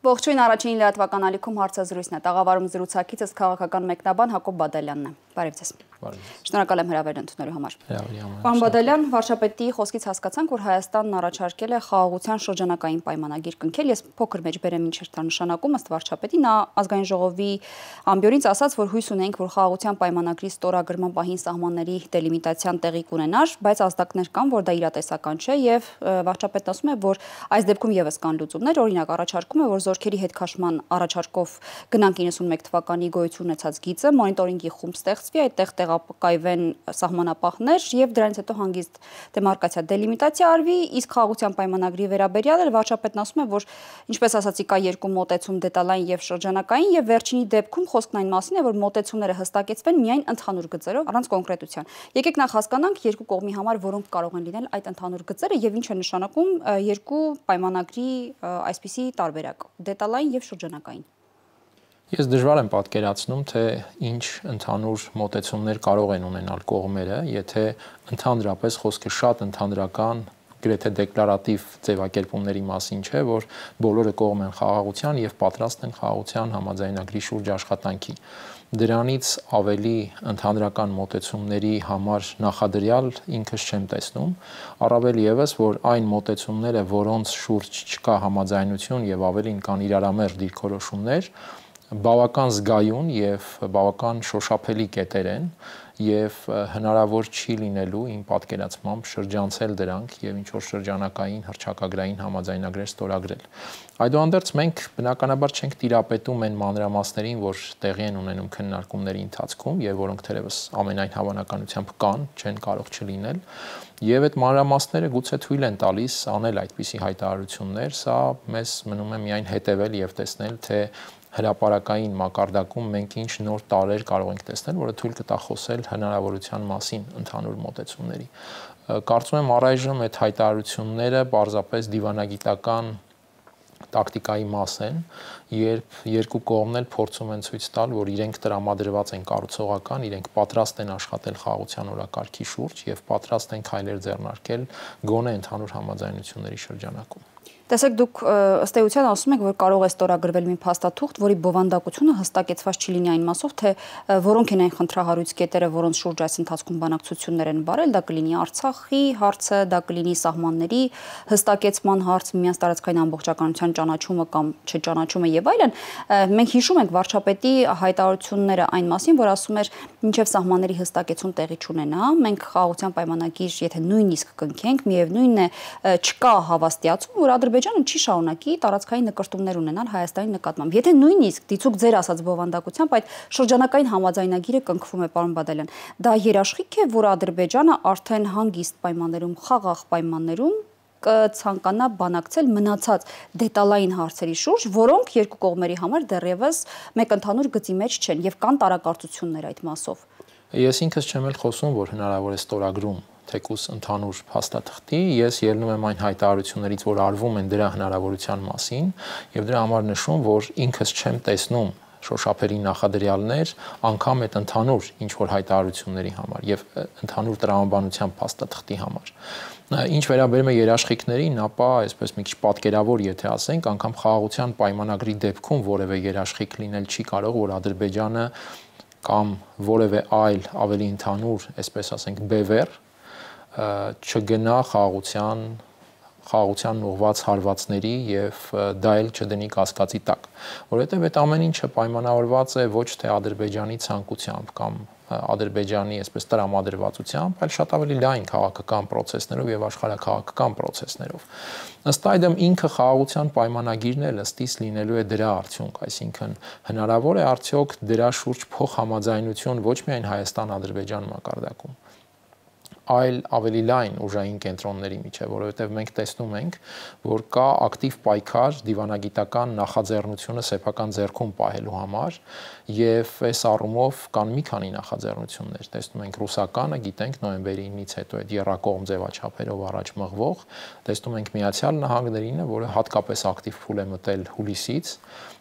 Ողջույն առաջին լրատվական ալիքում հարցազրույցն է։ Տաղավարում զրուցակիցս քաղաքական մեկնաբան Հակոբ Բադալյանն է։ Բարև ձեզ։ Շնորհակալ եմ հրավերն ընդունելու համար։ Պարոն Բադալյան, վարչապետի խոսքից հասկացանք, որ Հայաստանն առաջարկել է խաղաղության շրջանակային պայմանագիր կնքել։ Ես փոքր մեջբերեմ ինչ էր դա նշանակում, ըստ վարչապետի նա ազգային ժողովի ամբիոնից ասաց, որ հույս ունենք, որ խաղաղության պայմանագրի ստորագրման պահին սահմանների դելիմիտացիան տեղի կունենար, բայց ազդակներ կան, որ դա իրատեսական չէ եւ վարչապետն ասում է, որ այս դեպքում եւս կան լուծումներ, օրինակ առաջարկում է, որ զորքերի հետ քաշման առաջարկով գնանք 91 թվականի գոյություն ունեցած գիծը, մոնիտորինգի խումբ ստեղծվի, այդտեղ տեղակայվեն սահմանապահներ եւ դրանից հետո հանգիստ դեմարկացիա դելիմիտացիա արվի, իսկ խաղաղության պայմանագրի վերաբերյալ վարչապետն ասում է, որ ինչպես ասացի, կա երկու մոտեցում՝ դետալային եւ շրջանակային, եւ վերջինի դեպքում խոսքն այն մասին է, որ մոտեցումները հստակեցվեն միայն ընդհանուր գծերով, առանց կոնկրետության։ Եկեք նախ հասկանանք երկու կողմի համար որոնք կարող են լինել այդ ընդհանուր գծերը եւ ինչ է նշանակում երկու պայմանագրի այսպիսի տարբերակ՝ դետալային եւ շրջանակային։ Ես դժվար եմ պատկերացնում, թե ինչ ընդհանուր մոտեցումներ կարող են ունենալ կողմերը, եթե ընդհանրապես խոսքը շատ ընդհանրական, գրեթե դեկլարատիվ ձևակերպումների մասին չէ, որ բոլորը կողմ են խաղաղության եւ պատրաստ են խաղաղության համաձայնագրի շուրջ աշխատանքի։ Դրանից ավելի ընդհանրական մոտեցումների համար նախադրյալ ինքս չեմ տեսնում, առավել եւս, որ այն մոտեցումները, որոնց շուրջ չկա համաձայնություն եւ ավելին կան իրարամերժ դիրքորոշումներ, բավական զգայուն եւ բավական շոշափելի կետեր են եւ հնարավոր չի լինելու իմ պատկերացմամբ շրջանցել դրանք եւ ինչ որ շրջանակային հռչակագրային համաձայնագրեր ստորագրել։ Այդուհանդերձ մենք բնականաբար չենք տիրապետում այն մանրամասներին, որ տեղի են ունենում քննարկումների ընթացքում եւ որոնք թերևս ամենայն հավանականությամբ կան, չեն կարող չլինել, եւ այդ մանրամասները գուցե թույլ են տալիս անել այդպիսի հայտարարություններ, սա մեզ մնում է միայն հետեւել եւ տեսնել, թե հրապարակային մակարդակում մենք ինչ նոր տարեր կարող ենք տեսնել, որը թույլ կտա խոսել հնարավորության մասին ընդհանուր մոտեցումների։ Կարծում եմ առայժմ այդ հայտարարությունները պարզապես դիվանագիտական տակտիկայի մաս են, երբ երկու կողմն էլ փորձում են ցույց տալ, որ իրենք տրամադրված են կառուցողական, իրենք պատրաստ են աշխատել խաղաղության օրակարգի շուրջ եւ պատրաստ են քայլեր ձեռնարկել գոնե ընդհանուր համաձայնությունների շրջանակում։ Տեսեք, դուք ըստ էության ասում եք, որ կարող է ստորագրվել մի փաստաթուղթ, որի բովանդակությունը հստակեցված չի լինի այն մասով, թե որոնք են այն խնդրահարույց կետերը, որոնց շուրջ այս ընթացքում բանակցություններ են բարել, դա կլինի Արցախի հարցը, դա կլինի սահմանների հստակեցման հարց, միմյանց տարածքային ամբողջականության ճանաչումը կամ չճանաչումը եւ այլն։ Մենք հիշում ենք վարչապետի հայտարարությունները այն մասին, որ ասում էր, մինչև սահմանների հստակեցում տեղի չունենա, մենք խաղաղության պայմանագիր, եթե նույնիսկ կնքենք, միևնույնն է, չկա հավաստիացում, որ Ադրբեջանը չի շարունակի տարածքային նկրտումներ ունենալ Հայաստանի նկատմամբ։ Եթե նույնիսկ դիցուք ձեր ասած բովանդակությամբ այդ շրջանակային համաձայնագիրը կնքվում է, պարոն Բադալյան, դա երաշխիք է, որ Ադրբեջանը արդեն հանգիստ պայմաններում, խաղաղ պայմաններում կցանկանա բանակցել մնացած դետալային հարցերի շուրջ, որոնք երկու կողմերի համար դեռևս մեկ ընդհանուր գծի մեջ չեն եւ կան տարակարծություններ այդ մասով։ Ես ինքս չեմ էլ խոսում, որ հնարավոր է ստորագրում թեկուս ընդհանուր փաստաթղթի, ես ելնում եմ այն հայտարարություններից, որ արվում են դրա հնարավորության մասին եւ դրա համար նշում, որ ինքս չեմ տեսնում շոշափելի նախադրյալներ անգամ այդ ընդհանուր ինչ որ հայտարարությունների համար եւ ընդհանուր տրամաբանության փաստաթղթի համար։ Ինչ վերաբերում է երաշխիքներին, ապա այսպես մի քիչ պատկերավոր, եթե ասենք, անգամ խաղաղության պայմանագրի դեպքում որևէ երաշխիք լինել չի կարող, որ Ադրբեջանը կամ որևէ այլ ավելի ընդհանուր, այսպես ասենք, բևեռ չգնա խաղաղության ուղղված հարվածների եւ դա էլ չդնի կասկածի տակ, որովհետեւ այդ ամեն ինչը պայմանավորված է ոչ թե Ադրբեջանի ցանկությամբ կամ Ադրբեջանի այսպես տրամադրվածությամբ, այլ շատ ավելի լայն քաղաքական process-ներով եւ աշխարհաքաղաքական process-ներով։ Ըստ այդմ ինքը խաղաղության պայմանագիրն էլ ըստիս լինելու է դրա արդյունք, այսինքն հնարավոր է արդյոք դրա շուրջ փոխհամաձայնություն ոչ միայն Հայաստան-Ադրբեջան մակարդակում, այլ ավելի լայն ուժային կենտրոնների միջև, որովհետև մենք տեսնում ենք, որ կա ակտիվ պայքար դիվանագիտական նախաձեռնությունը սեփական ձեռքում պահելու համար եւ այս առումով կան մի քանի նախաձեռնություններ։ Տեսնում ենք ռուսականը, գիտենք նոյեմբերի 9-ից հետո այդ եռակողմ ձևաչափերով առաջ մղվող, տեսնում ենք Միացյալ Նահանգներինը, որը հատկապես ակտիվ փուլ է մտել հուլիսից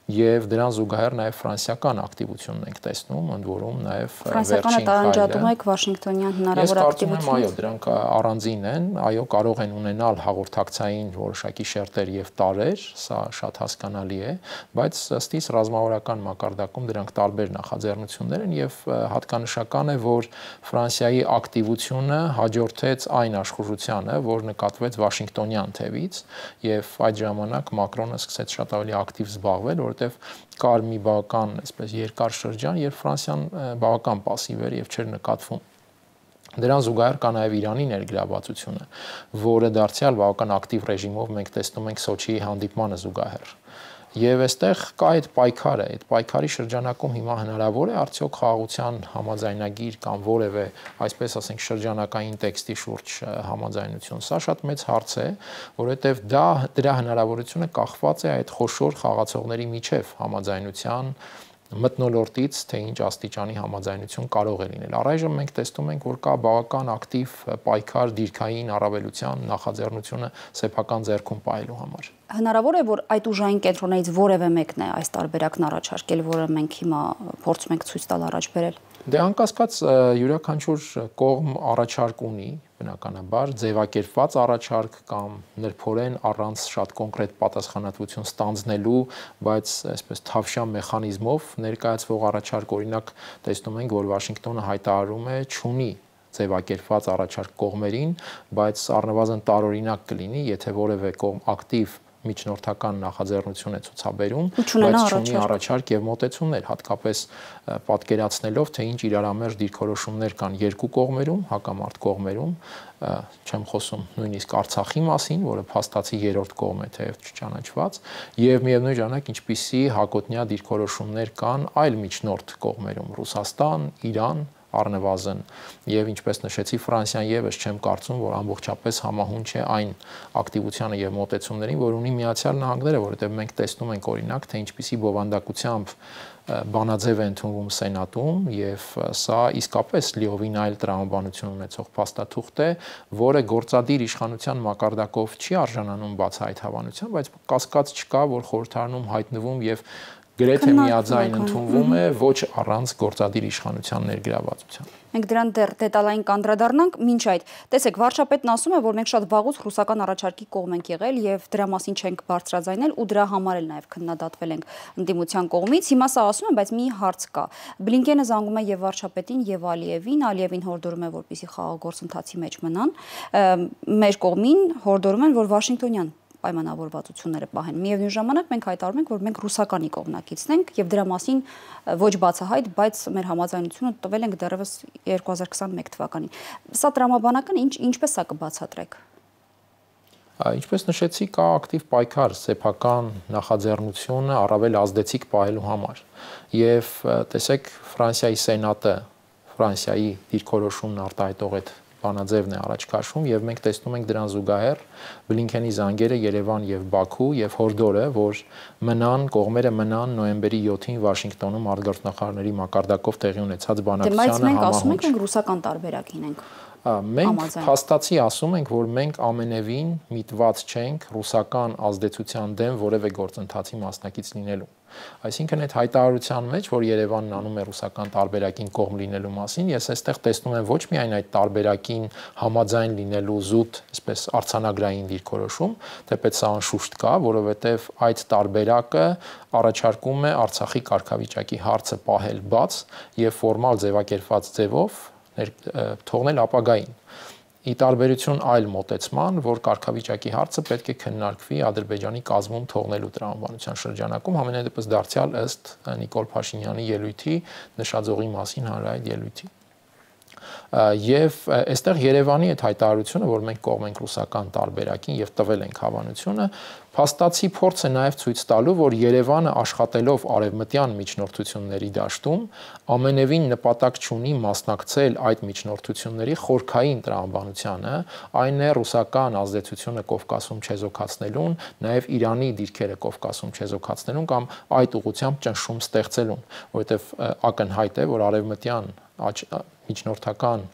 եւ դրան զուգահեռ նաեւ ֆրանսիական ակտիվությունն ենք տեսնում, ընդ որում նաեւ ֆրանսիականը տարանջատում եք Վաշինգտոնյան հնարավոր ակտիվություն։ Այո, դրանք առանձին են, այո, կարող են ունենալ հաղորդակցային որոշակի շերտեր եւ տարեր, սա շատ հասկանալի է, բայց ըստիս ռազմավարական մակարդակում դրանք տարբեր նախաձեռնություններ են եւ հատկանշական է, որ Ֆրանսիայի ակտիվությունը հաջորդեց այն աշխուժությանը, որ նկատվեց Վաշինգտոնյան թևից եւ այդ ժամանակ Մակրոնը սկսեց շատ ավելի ակտիվ զբաղվել, որովհետեւ կար մի բավական, այսպես երկար շրջան, երբ Ֆրանսիան բավական пассив էր եւ չէր նկատվում։ Դրան զուգահեռ կա նաև Իրանի ներգրավվածությունը, որը դարձյալ բավական ակտիվ ռեժիմով մենք տեսնում ենք Սոչիի հանդիպմանը զուգահեռ։ Եվ այստեղ կա այդ պայքարը, այդ պայքարի շրջանակում հիմա հնարավոր է արդյոք խաղաղության համաձայնագիր կամ որևէ, այսպես ասենք, շրջանակային տեքստի շուրջ համաձայնություն։ Սա շատ մեծ հարց է, որովհետև դրա հնարավորությունը կախված է այդ խոշոր խաղացողների միջև համաձայնության մթնոլորտից, թե ինչ աստիճանի համաձայնություն կարող է լինել։ Առայժմ մենք տեսնում ենք, որ կա բավական ակտիվ պայքար դիրքային առավելության նախաձեռնությունը սեփական ձեռքում պահելու համար։ Հնարավոր է, որ այդ ուժային կենտրոններից որևէ մեկն է այս տարբերակն առաջարկել, որը մենք հիմա փորձում ենք ցույց տալ առաջ բերել։ Դե անկասկած յուրաքանչյուր կողմ առաջարկ ունի, բնականաբար ձևակերպված առաջարկ կամ նրբորեն առանց շատ կոնկրետ պատասխանատվություն ստանձնելու, բայց այսպես թավշյա մեխանիզմով ներկայացվող առաջարկ, օրինակ տեսնում ենք, որ Վաշինգտոնը հայտարարում է չունի ձևակերպված առաջարկ կողմերին, բայց առնվազն տարօրինակ կլինի, եթե որևէ կողմ ակտիվ միջնորդական նախաձեռնություն է ցուցաբերում, բայց չունի առաջարկ եւ մոտեցումներ, հատկապես պատկերացնելով, թե ինչ իրարամերժ դիրքորոշումներ կան երկու կողմերում, հակամարտ կողմերում, չեմ խոսում նույնիսկ Արցախի մասին, որը փաստացի երրորդ կողմ է, թեև չճանաչված, եւ միևնույն ժամանակ ինչպիսի հակոտնյա դիրքորոշումներ կան այլ միջնորդ կողմերում՝ Ռուսաստան, Իրան, առնվազն եւ ինչպես նշեցի Ֆրանսիան եւս չեմ կարծում, որ ամբողջապես համահունչ է այն ակտիվությանը եւ մոտեցումներին, որ ունի Միացյալ Նահանգները, որովհետեւ մենք տեսնում ենք օրինակ, թե ինչպիսի բովանդակությամբ բանաձև է ընդունվում Սենատում եւ սա իսկապես լիովին այլ տրամաբանություն ունեցող փաստաթուղթ է, որը գործադիր իշխանության մակարդակով չի արժանանում բացահայտ հավանության, բայց կասկած չկա, որ խորհրդարանում հայտնվում եւ գրեթե միաձայն ընդունվում է ոչ առանց գործադիր իշխանության ներգրավվածության։ Մենք դրան դեռ դետալային կանդրադառնանք, մինչ այդ տեսեք, վարչապետն ասում է, որ մենք շատ վաղուց ռուսական առաջարկի կողմ ենք եղել եւ դրա մասին չենք բարձրաձայնել ու դրա համար էլ նաեւ քննադատվել ենք ընդդիմության կողմից։ Հիմա սա ասում են, բայց մի հարց կա։ Բլինկենը զանգում է եւ վարչապետին եւ Ալիևին հորդորում է, որպեսզի խաղաղ գործընթացի մեջ մնան։ Մեր կողմին հորդորում են, որ Վաշինգտոնյան պայմանավորվածությունները պահեն։ Միևնույն ժամանակ մենք հայտարարում ենք, որ մենք ռուսականի կողմնակիցն ենք եւ դրա մասին ոչ բացահայտ, բայց մեր համաձայնությունը տվել ենք դեռևս 2021 թվականին։ Սա տրամաբանական ինչպես սա կբացատրեք։ Ինչպես նշեցի, կա ակտիվ պայքար սեփական նախաձեռնությունը առավել ազդեցիկ պահելու համար։ Եվ տեսեք, Ֆրանսիայի Սենատը, Ֆրանսիայի դիրքորոշումն արտահայտող այդ բանաձևն է առաջ քաշում եւ մենք տեսնում ենք դրան զուգահեռ Բլինքենի զանգերը Երևան եւ Բաքու եւ հորդորը, որ կողմերը մնան նոյեմբերի 7-ին Վաշինգտոնում արտգործնախարարների մակարդակով տեղի ունեցած բանակցությանը համահունչ։ Բայց մենք ասում ենք ռուսական տարբերակին ենք։ Մենք փաստացի ասում ենք, որ մենք ամենևին միտված չենք ռուսական ազդեցության դեմ որևէ գործընթացի մասնակից լինելու։ Այսինքն այդ հայտարարության մեջ, որ Երևանն անում է ռուսական տարբերակին կողմ լինելու մասին, ես այստեղ տեսնում եմ ոչ միայն այդ տարբերակին համաձայն լինելու զուտ, այսպես արձանագրային դիրքորոշում, թեպետ սա անշուշտ կա, որովհետև այդ տարբերակը առաջարկում է Արցախի կարգավիճակի հարցը պահել բաց եւ ֆորմալ ձևակերպված ձևով թողնել ապագային։ Ի տարբերություն այլ մոտեցման, որ կարգավիճակի հարցը պետք է քննարկվի Ադրբեջանի կազմում թողնելու տրամաբանության շրջանակում, համենայնդեպս դարձյալ ըստ Նիկոլ Փաշինյանի ելույթի, նշաձողի մասին հանրահայտ ելույթի։ Եվ այստեղ Երևանի այդ հայտարարությունը, որ մենք կողմ ենք ռուսական տարբերակին եւ տվել ենք հավանությունը, փաստացի փորձ է նաեւ ցույց տալու, որ Երևանը աշխատելով արևմտյան միջնորդությունների դաշտում ամենևին նպատակ չունի մասնակցել այդ միջնորդությունների խորքային տրամաբանությանը, այն է ռուսական ազդեցությունը Կովկասում չեզոքացնելուն, նաեւ Իրանի դիրքերը Կովկասում չեզոքացնելուն կամ այդ ուղղությամբ ճնշում ստեղծելուն, որովհետեւ ակնհայտ է, որ արևմտյան միջնորդական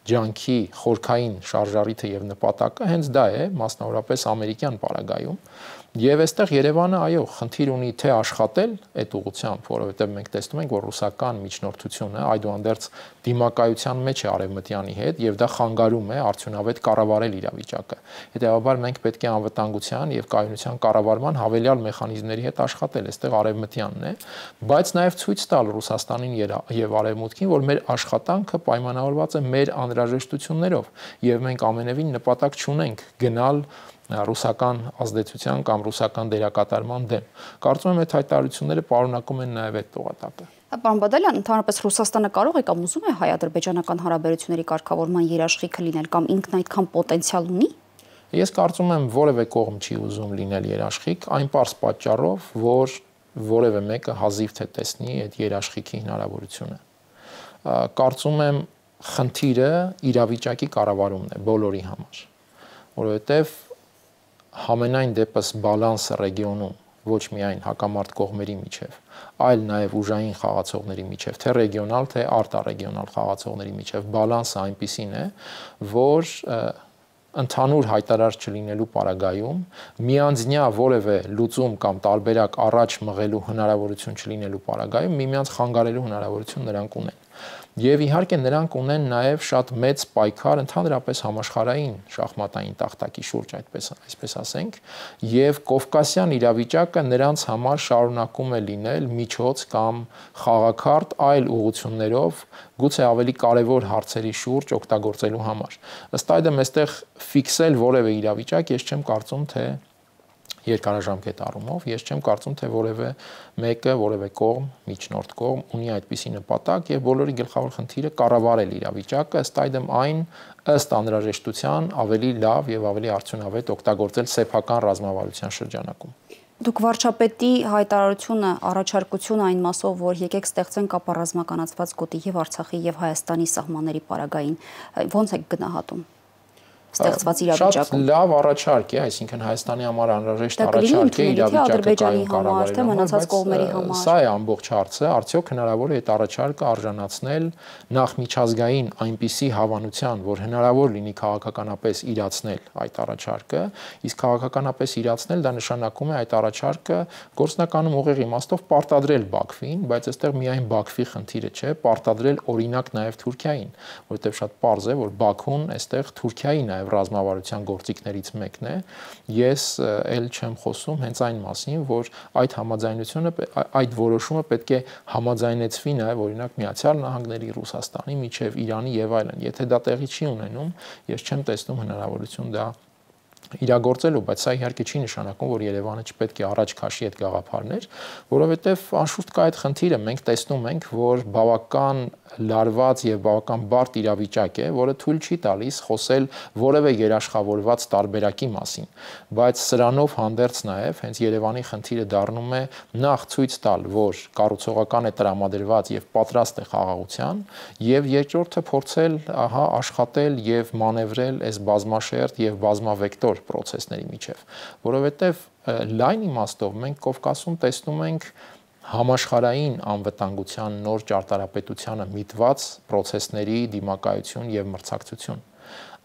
ջանքի խորքային շարժառիթը եւ նպատակը հենց դա է, մասնավորապես ամերիկյան պարագայում։ Եվ այստեղ Երևանը, այո, խնդիր ունի թե աշխատել այդ ուղղությամբ, որովհետև մենք տեսնում ենք, որ ռուսական միջնորդությունը այդուհանդերձ դիմակայության մեջ է արևմտյանի հետ եւ դա խանգարում է արդյունավետ կառավարել իրավիճակը։ Հետեւաբար մենք պետք է անվտանգության եւ կայունության կառավարման հավելյալ մեխանիզմների հետ աշխատել, այստեղ արևմտյանն է, բայց նաեւ ցույց տալ Ռուսաստանին եւ արևմուտքին, որ մեր աշխատանքը պայմանավորված է մեր անհրաժեշտություններով եւ մենք ամենևին նպատակ չունենք գնալ ռուսական ազդեցության կամ ռուսական դերակատարման դեմ։ Կարծում եմ այդ հայտարարությունները պարունակում են նաև այդ տողատակը։ Պարոն Բադալյան, ընդհանրապես Ռուսաստանը կարող է կամ ուզում է հայ-ադրբեջանական հարաբերությունների կարգավորման երաշխիքը լինել կամ ինքն այդքան պոտենցիալ ունի։ Ես կարծում եմ որևէ կողմ չի ուզում լինել երաշխիք, այն պարզ պատճառով, որ որևէ մեկը հազիվ թե տեսնի այդ երաշխիքի հնարավորությունը։ Կարծում եմ խնդիրը իրավիճակի կառավարումն է բոլորի համար, որովհետև համենայն դեպս բալանսը ռեգիոնում ոչ միայն հակամարտ կողմերի միջև, այլ նաև ուժային խաղացողների միջև, թե ռեգիոնալ, թե արտառեգիոնալ խաղացողների միջև բալանսը այնպիսին է, որ ընդհանուր հայտարար չլինելու պարագայում միանձնյա որևէ լուծում կամ տարբերակ առաջ մղելու հնարավորություն չլինելու պարագայում միմյանց խանգարելու հնարավորություն նրանք ունեն։ Եվ իհարկե նրանք ունեն նաև շատ մեծ պայքար ընդհանրապես համաշխարհային շախմատային տախտակի շուրջ, այսպես ասենք, եւ կովկասյան իրավիճակը նրանց համար շարունակում է լինել միջոց կամ խաղաքարտ այլ ուղղություններով, գուցե ավելի կարևոր հարցերի շուրջ օգտագործելու համար։ Ըստ այդմ այստեղ ֆիքսել որևէ իրավիճակ ես չեմ կարծում, թե երկարաժամկետ առումով, ես չեմ կարծում, թե որևէ մեկը, որևէ կողմ, միջնորդ կողմ ունի այդպիսի նպատակ եւ բոլորի գլխավոր խնդիրը կառավարել իրավիճակը, ըստ այդմ այն ըստ անհրաժեշտության ավելի լավ եւ ավելի արդյունավետ օգտագործել սեփական ռազմավարության շրջանակում։ Դուք վարչապետի հայտարարությունը, առաջարկությունը այն մասով, որ եկեք ստեղծենք ապառազմականացված գոտի եւ Արցախի եւ Հայաստանի սահմանների պարագային, ոնց եք գնահատում ստեղծված իրավիճակում։ Շատ լավ առաջարկ է, այսինքն Հայաստանի համար անհրաժեշտ առաջարկ է իրավիճակը կառավարելու համար, սա է ամբողջ հարցը, արդյոք հնարավոր է այդ առաջարկը արժանացնել նախ միջազգային այնպիսի հավանության, որ հնարավոր լինի քաղաքականապես իրացնել այդ առաջարկը, իսկ քաղաքականապես իրացնել դա նշանակում է այդ առաջարկը գործնականում ուղիղ իմաստով պարտադրել Բաքվին, բայց այստեղ միայն Բաքվի խնդիրը չէ, պարտադրել օրինակ նաև Թուրքիային, որովհետև շատ պարզ է, որ Բաքուն այստեղ Թուրքիայի նաև ռազմավարության գործիքներից մեկն է։ Ես էլ չեմ խոսում հենց այն մասին, որ այդ համաձայնությունը, այդ որոշումը պետք է համաձայնեցվի նաև օրինակ Միացյալ Նահանգների, Ռուսաստանի միջև, Իրանի եւ այլն։ Եթե դա տեղի չի ունենում, ես չեմ տեսնում հնարավորություն դա իրագործելու, բայց սա իհարկե չի նշանակում, որ Երևանը չպետք է առաջ քաշի այդ գաղափարներ, որովհետև անշուշտ կա այդ խնդիրը, մենք տեսնում ենք, որ բավական լարված եւ բավական բարդ իրավիճակ է, որը թույլ չի տալիս խոսել որևէ երաշխավորված տարբերակի մասին, բայց սրանով հանդերձ նաեւ հենց Երևանի խնդիրը դառնում է նախ ցույց տալ, որ կառուցողական է տրամադրված եւ պատրաստ է խաղաղության, եւ երկրորդը փորձել աշխատել եւ մանևրել այս բազմաշերտ եւ բազմավեկտոր պրոցեսների միջև, որովհետև լայն իմաստով մենք Կովկասում տեսնում ենք համաշխարհային անվտանգության նոր ճարտարապետությանը միտված պրոցեսների դիմակայություն եւ մրցակցություն։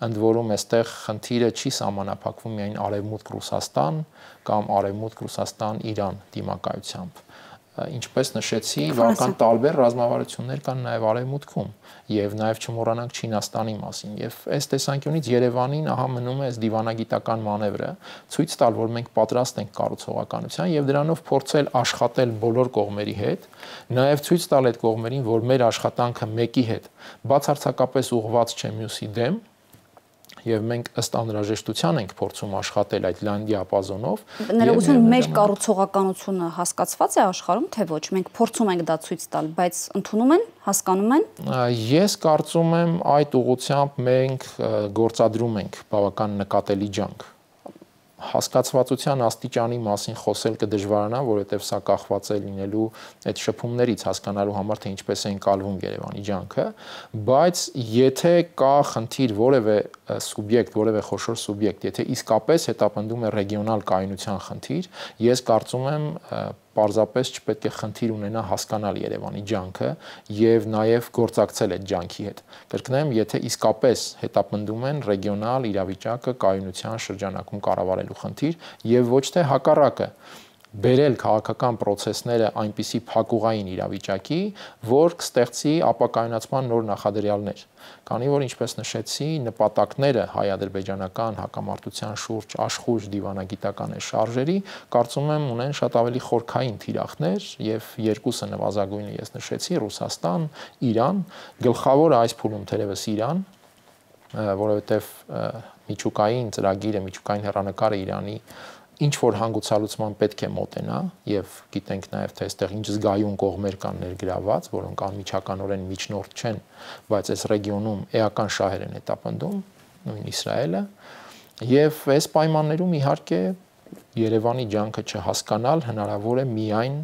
Ընդ որում այստեղ խնդիրը չի սահմանափակվում միայն Արևմուտք Ռուսաստան կամ Արևմուտք Ռուսաստան-Իրան դիմակայությամբ։ Ինչպես նշեցի, բավական տարբեր ռազմավարություններ կան նաև Արևմուտքում եւ նաև չմոռանանք Չինաստանի մասին։ Եվ այս տեսանկյունից Երևանին ահա մնում է այս դիվանագիտական մանևրը ցույց տալ, որ մենք պատրաստ ենք կառուցողականության եւ դրանով փորձել աշխատել բոլոր կողմերի հետ, նաև ցույց տալ այդ կողմերին, որ մեր աշխատանքը մեկի հետ բացարձակապես ուղղված չէ մյուսի դեմ, եւ մենք ըստ անհրաժեշտության ենք փորձում աշխատել այդ լայն դիապազոնով։ Ներողություն, մեր կառուցողականությունը հասկացված է աշխարհում, թե ոչ։ Մենք փորձում ենք դա ցույց տալ, բայց ընդունում են, հասկանում են։ Ես կարծում եմ այդ ուղղությամբ մենք գործադրում ենք բավական նկատելի ջանք։ Հասկացվածության աստիճանի մասին խոսել կդժվարանա, որովհետև սա կախված է լինելու այդ շփումներից հասկանալու համար, թե ինչպես է ընկալվում Երևանի ջանքը, բայց եթե կա խնդիր որևէ սուբյեկտ, որևէ խոշոր սուբյեկտ, եթե իսկապես հետապնդում է ռեգիոնալ կայունության խնդիր, ես կարծում եմ պարզապես չպետք է խնդիր ունենա հասկանալ Երևանի ջանքը եւ նաեւ գործակցել այդ ջանքի հետ։ Կրկնեմ, եթե իսկապես հետապնդում են ռեգիոնալ իրավիճակը կայունության շրջանակում կառավարելու խնդիր եւ ոչ թե հակառակը, բերել քաղաքական process-ները այնպիսի փակուղային իրավիճակի, որ կստեղծի ապակայունացման նոր նախադրյալներ։ Քանի որ ինչպես նշեցի, նպատակները հայ-ադրբեջանական հակամարտության շուրջ աշխույժ դիվանագիտական շարժերի, կարծում եմ ունեն շատ ավելի խորքային թիրախներ եւ երկուսը նվազագույնը ես նշեցի՝ Ռուսաստան, Իրան, գլխավորը այս փուլում թերևս Իրան, որովհետեւ միջուկային ծրագիրը, միջուկային հեռանկարը Իրանի ինչ որ հանգուցալուծման պետք է մոտենա եւ գիտենք նաեւ թե այստեղ ինչ զգայուն կողմեր կան ներգրաված, որոնք անմիջականորեն միջնորդ չեն, բայց այս ռեգիոնում էական շահեր են հետապնդում, նույն Իսրայելը, եւ այս պայմաններում իհարկե Երևանի ջանքը չհասկանալ հնարավոր է միայն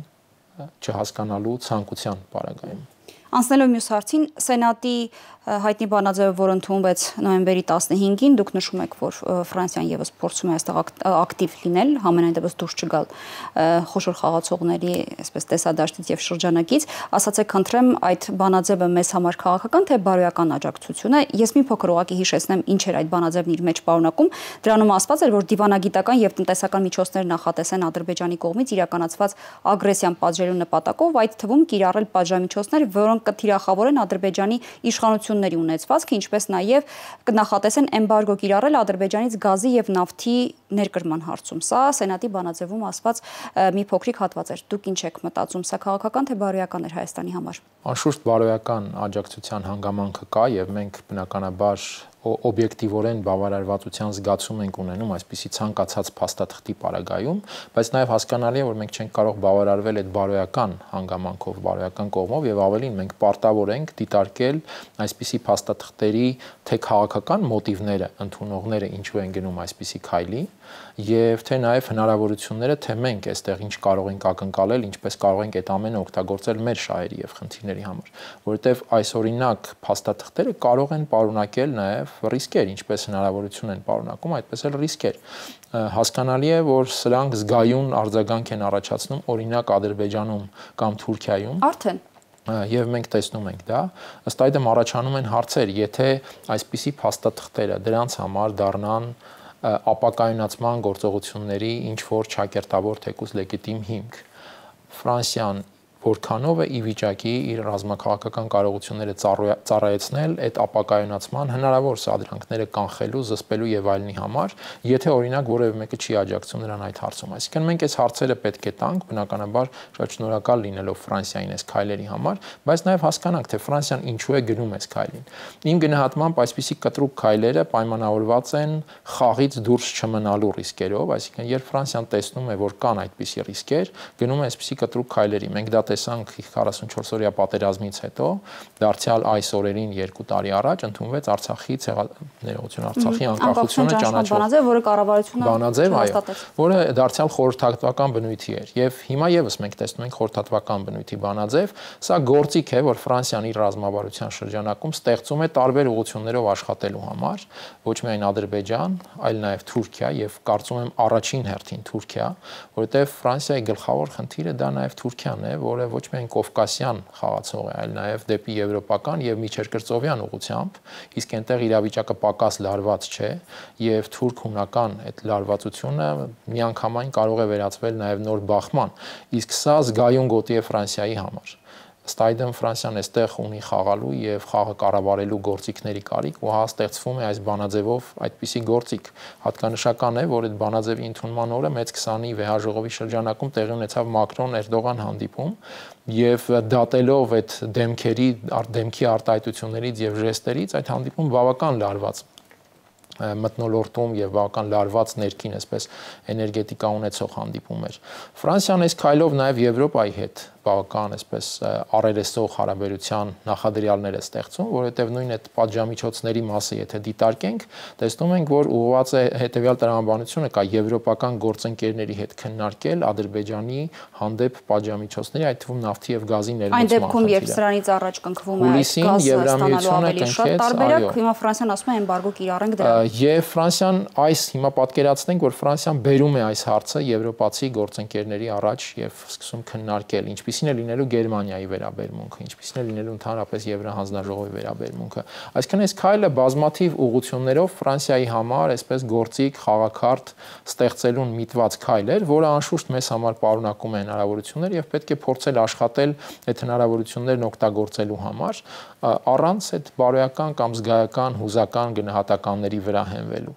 չհասկանալու ցանկության պարագայում։ Անցնելով մյուս հարցին, Սենատի հայտնի բանաձևը, որ ընդունվեց նոյեմբերի 15-ին, դուք նշում եք, որ Ֆրանսիան եւս փորձում է այստեղ ակտիվ լինել, համենայն դեպս դուրս չգալ խոշոր խաղացողների, այսպես տեսադաշտից եւ շրջանակից, ասացեք խնդրեմ, այդ բանաձևը մեզ համար քաղաքական թե բարոյական աջակցություն է։ Ես մի փոքր ուղղակի հիշեցնեմ, ինչ էր այդ բանաձևն իր մեջ պարունակում։ Դրանում ասված էր, որ դիվանագիտական եւ տնտեսական միջոցներ նախատեսեն Ադրբեջանի կողմից իրականացված ագրեսիան պատժելու նպատակով, այդ թվում կիրառել պատժամիջոցներ, որոնք կթիրախավորեն Ադրբեջանի իշխանությունների ունեցվածքը, ինչպես նաև կնախատեսեն էմբարգո կիրառել Ադրբեջանից գազի եւ նավթի ներկրման հարցում։ Սա Սենատի բանաձևում ասված մի փոքրիկ հատված էր։ Դուք ինչ եք մտածում, սա քաղաքական թե բարոյական էր Հայաստանի համար։ Անշուշտ բարոյական աջակցության հանգամանքը կա եւ մենք բնականաբար օբյեկտիվորեն բավարարվածության զգացում ենք ունենում այսպիսի ցանկացած փաստաթղթի պարագայում, բայց նաև հասկանալի է, որ մենք չենք կարող բավարարվել այդ բարոյական հանգամանքով, բարոյական կողմով եւ ավելին մենք պարտավոր ենք դիտարկել այսպիսի փաստաթղթերի թե քաղաքական մոտիվները, ընդունողները ինչու են գնում այսպիսի քայլի եւ թե նաև հնարավորությունները, թե մենք այստեղ ինչ կարող ենք ակնկալել, ինչպես կարող ենք այդ ամենը օգտագործել մեր շահերի եւ խնդիրների համար, որովհետեւ այս օրինակ փաստաթղթերը կարող են պարունակել նաև ռիսկեր, ինչպես հնարավորություն են պարունակում, այդպես էլ ռիսկեր։ Հասկանալի է, որ սրանք զգայուն արձագանք են առաջացնում օրինակ Ադրբեջանում կամ Թուրքիայում։ Արդեն Եվ մենք տեսնում ենք դա, ըստ այդմ առաջանում են հարցեր, եթե այսպիսի փաստաթղթերը դրանց համար դառնան ապակայունացման գործողությունների ինչ որ ճակերտավոր թեկուզ լեգիտիմ հիմք։ Ֆրանսիան որքանով է ի վիճակի իր ռազմաքաղաքական կարողությունները ծառայեցնել այդ ապակայունացման հնարավոր սադրանքները կանխելու, զսպելու եւ այլնի համար, եթե օրինակ որևէ մեկը չի աջակցում նրան այդ հարցում։ Այսինքն մենք այս հարցերը պետք է տանք, բնականաբար շատ շնորհակալ լինելով Ֆրանսիային այս քայլերի համար, բայց նաեւ հասկանանք, թե Ֆրանսիան ինչու է գնում այս քայլին։ Իմ գնահատմամբ այսպիսի կտրուկ քայլերը պայմանավորված են խաղից դուրս չմնալու ռիսկերով, այսինքն երբ Ֆրանսիան տեսնում է, որ կան այդպիսի ռիսկեր, գնում է այսպիսի կտրուկ քայլերի։ Մենք դա տեսանք 44-օրյա պատերազմից հետո, դարձյալ այս օրերին 2 տարի առաջ ընդունվեց Արցախի ներողություն Արցախի անկախությունը ճանաչող բանաձև, որը կառավարությունը բանաձև, այո, որը դարձյալ խորհրդատվական բնույթի էր եւ հիմա եւս մենք տեսնում ենք խորհրդատվական բնույթի բանաձև, սա գործիք է, որ Ֆրանսիան իր ռազմավարության շրջանակում ստեղծում է տարբեր ուղղություններով աշխատելու համար, ոչ միայն Ադրբեջան, այլ նաեւ Թուրքիա եւ կարծում եմ առաջին հերթին Թուրքիա, որովհետեւ Ֆրանսիայի գլխավոր խնդիրը դա նաեւ Թուրքիան է, որը ոչ միայն կովկասյան խաղացող է, այլ նաև դեպի եվրոպական եւ միջերկրծովյան ուղղությամբ, իսկ այնտեղ իրավիճակը պակաս լարված չէ եւ թուրք-հունական այդ լարվածությունը միանգամայն կարող է վերածվել նաև նոր բախման, իսկ սա զգայուն գոտի է Ֆրանսիայի համար։ Ըստ այդմ Ֆրանսիան այստեղ ունի խաղալու եւ խաղը կառավարելու գործիքների կարիք ու հա ստեղծվում է այս բանաձևով այդպիսի գործիք։ Հատկանշական է, որ այդ բանաձևի ընդունման օրը մեծ 20-ի վեհաժողովի շրջանակում տեղի ունեցավ Մակրոն-Էրդողան հանդիպում եւ դատելով այդ դեմքի արտահայտություններից եւ ժեստերից այդ հանդիպում բավական լարված մթնոլորտում եւ բավական լարված ներքին այսպես էներգետիկա ունեցող հանդիպում էր։ Ֆրանսիան այս քայլով նաեւ Եվրոպայի հետ բավական այսպես առերեսող հարաբերության նախադրյալներ է ստեղծում, որովհետև նույն այդ պատժամիջոցների մասը եթե դիտարկենք, տեսնում ենք, որ ուղղված է հետևյալ տրամաբանությունը կա եվրոպական գործընկերների հետ քննարկել Ադրբեջանի հանդեպ պատժամիջոցների, այդ թվում նավթի եւ գազի ներմուծման։ Այն դեպքում, երբ սրանից առաջ կնքվում է գազը ստանալու ավելի շատ տարբերակ, հիմա Ֆրանսիան ասում է էմբարգո կիրառենք դրան։ Եվ Ֆրանսիան հիմա պատկերացնենք, որ Ֆրանսիան բերում է այս հարցը եվրոպացի գործընկերների առաջ եւ սկսում քննարկել, ինչպիսին է լինելու Գերմանիայի վերաբերմունքը, ինչպիսին է լինելու ընդհանրապես Եվրահանձնաժողովի վերաբերմունքը։ Այսինքն այս քայլը բազմաթիվ ուղղություններով Ֆրանսիայի համար այսպես գործիք խաղակարդ ստեղծելուն միտված քայլ էր, որը անշուշտ մեզ համար պարունակում է հնարավորություններ եւ պետք է փորձել աշխատել այդ հնարավորություններն օգտագործելու համար առանց այդ բարոյական կամ զգայական հուզական գնահատականների վրա հենվելու։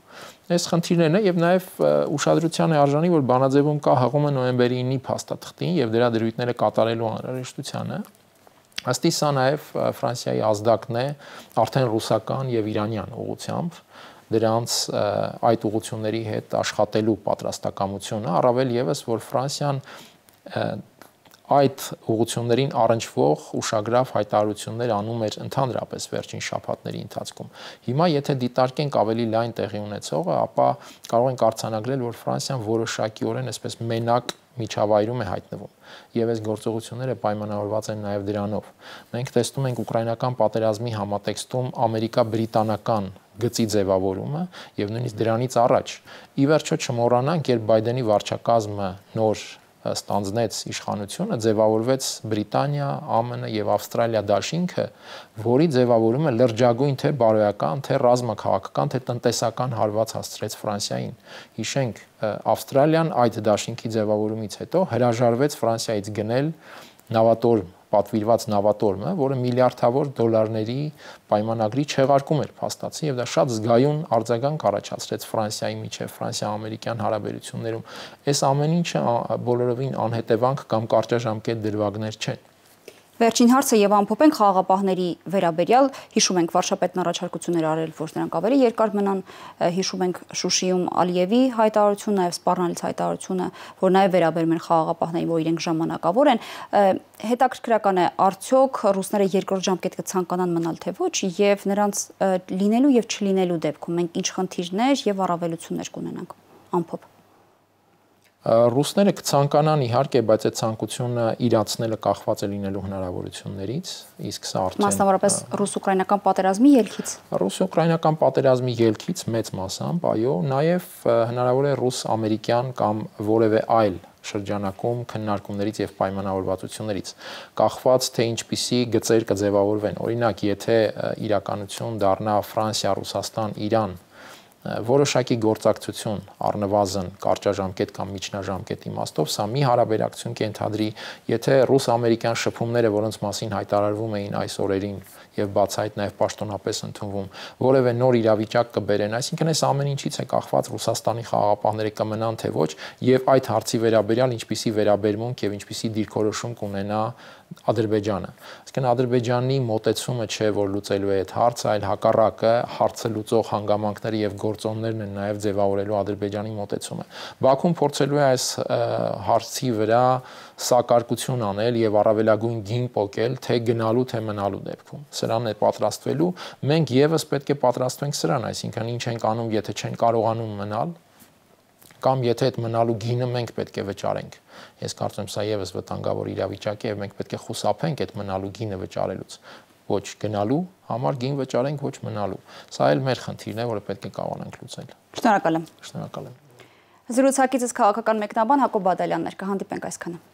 Այս խնդիրներն են եւ նաեւ ուշադրության է արժանի, որ բանաձևում կա հղումը նոյեմբերի 9-ի փաստաթղթին եւ դրա դրույթները կատարելու անհրաժեշտությանը։ Ըստի սա նաեւ Ֆրանսիայի ազդակն է արդեն ռուսական եւ իրանյան ուղղությամբ դրանց այդ ուղղությունների հետ աշխատելու պատրաստակամությունը, առավել եւս որ Ֆրանսիան այդ ուղղություններին առնչվող ուշագրավ հայտարարություններ անում էր ընդհանրապես վերջին շաբաթների ընթացքում։ Հիմա եթե դիտարկենք ավելի լայն տեղի ունեցողը, ապա կարող ենք արձանագրել, որ Ֆրանսիան որոշակիորեն այսպես մենակ միջավայրում է հայտնվում եւ այս գործողությունները պայմանավորված են նաեւ դրանով։ Մենք տեսնում ենք ուկրաինական պատերազմի համատեքստում ամերիկա-բրիտանական գծի ձևավորումը եւ նույնիսկ դրանից առաջ։ Ի վերջո չմոռանանք, երբ Բայդենի վարչակազմը նոր ստանձնեց իշխանությունը, ձևավորվեց Բրիտանիա, ԱՄՆ եւ Ավստրալիա դաշինքը, որի ձևավորումը լրջագույն թե բարոյական, թե ռազմաքաղաքական, թե տնտեսական հարված հասցրեց Ֆրանսիային։ Հիշենք, Ավստրալիան այդ դաշինքի ձևավորումից հետո հրաժարվեց Ֆրանսիայից գնել նավատորմ պատվիրված նավատորմը, որը միլիարդավոր դոլարների պայմանագրի չեղարկում էր փաստացի եւ դա շատ զգայուն արձագանք առաջացրեց Ֆրանսիայի միջև ֆրանսիա-ամերիկյան հարաբերություններում։ Այս ամեն ինչը բոլորովին անհետևանք կամ կարճաժամկետ դրվագներ չեն։ Վերջին հարցը եւ ամփոփենք խաղաղապահների վերաբերյալ, հիշում ենք վարչապետն առաջարկություններ արել, որ նրանք ավելի երկար մնան, հիշում ենք Շուշիում Ալիևի հայտարարությունը, նաեւ Սպառնալից հայտարարությունը, որ նաեւ վերաբերում են խաղաղապահներին, որ իրենք ժամանակավոր են։ Հետաքրքրական է, արդյոք ռուսները երկրորդ ժամկետ կցանկանան մնալ թե ոչ եւ նրանց լինելու եւ չլինելու դեպքում մենք ինչ խնդիրներ եւ առավելություններ կունենանք ամփոփ։ Ռուսները կցանկանան իհարկե, բայց այդ ցանկությունը իրացնելը կախված է լինելու հնարավորություններից, իսկ սա արդեն մասնավորապես ռուս-ուկրաինական պատերազմի ելքից։ Ռուս-ուկրաինական պատերազմի ելքից մեծ մասամբ, այո, նաև հնարավոր է ռուս-ամերիկյան կամ որևէ այլ շրջանակում քննարկումներից եւ պայմանավորվածություններից կախված թե ինչպիսի գծեր կձևավորվեն։ Օրինակ, եթե իրականություն դառնա Ֆրանսիա, Ռուսաստան, Իրան որոշակի գործակցություն առնվազն կարճաժամկետ կամ միջնաժամկետ իմաստով, սա մի հարաբերակցություն կենթադրի, եթե ռուս-ամերիկյան շփումները, որոնց մասին հայտարարվում էին այս օրերին եւ բացահայտ նաեւ պաշտոնապես ընդունվում, որևէ նոր իրավիճակ կբերեն, այսինքն այս ամեն ինչից է կախված Ռուսաստանի խաղաղապահները կմնան թե ոչ եւ այդ հարցի վերաբերյալ ինչպիսի վերաբերմունք եւ ինչպիսի դիրքորոշում կունենա Ադրբեջանը։ Այսինքն Ադրբեջանի մոտեցումը չէ, որ լուծելու է այդ հարցը, այլ հակառակը հարցը լուծող հանգամանքները եւ գործոններն են նաեւ ձևավորելու Ադրբեջանի մոտեցումը։ Բաքուն փորձելու է այս հարցի վրա սակարկություն անել եւ առավելագույն գին պոկել թե գնալու թե մնալու դեպքում։ Սրան է պատրաստվելու, մենք եւս պետք է պատրաստվենք սրան, այսինքն ինչ ենք անում, եթե չեն կարողանում մնալ, կամ եթե այդ մնալու գինը մենք պետք է վճարենք։ Ես կարծում եմ սա եւս վտանգավոր իրավիճակ է եւ մենք պետք է խուսափենք այդ մնալու գինը վճարելուց։ Ոչ գնալու համար գին վճարենք, ոչ մնալու։ Սա էլ մեր խնդիրն է, որը պետք է կարողանանք լուծել։ Շնորհակալ եմ։ Շնորհակալ եմ։ Զրուցակիցս քաղաքական մեկնաբան Հակոբ Բադալյանն էր, կհանդիպենք այսքանը։